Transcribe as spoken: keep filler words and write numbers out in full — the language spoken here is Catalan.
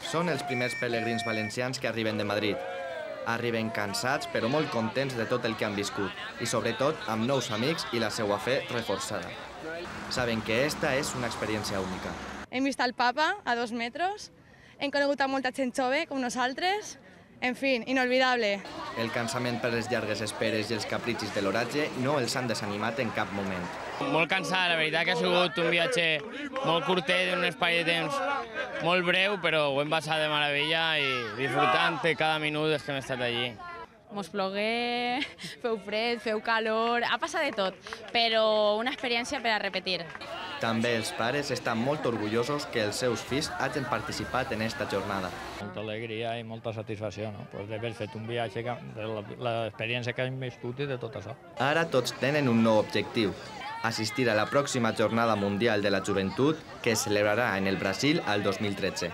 Són els primers pelegrins valencians que arriben de Madrid. Arriben cansats però molt contents de tot el que han viscut i sobretot amb nous amics i la seva fe reforçada. Saben que esta és una experiència única. Hem vist el papa a dos metres, hem conegut a molta gent jove com nosaltres, en fi, inolvidable. El cansament per les llargues esperes i els capritxis de l'oratge no els han desanimat en cap moment. Molt cansat, la veritat que ha sigut un viatge molt curtet, en un espai de temps molt breu, però ho hem passat de meravella i disfrutant de cada minut que hem estat allí. Mos plogué, feu fred, feu calor, ha passat de tot, però una experiència per a repetir. També els pares estan molt orgullosos que els seus fills hagin participat en esta jornada. Molta alegria i molta satisfacció, no? Pues d'haver fet un viatge, de l'experiència que hem viscut i de tot això. Ara tots tenen un nou objectiu, assistir a la pròxima Jornada Mundial de la Joventut que es celebrarà en el Brasil al dos mil tretze.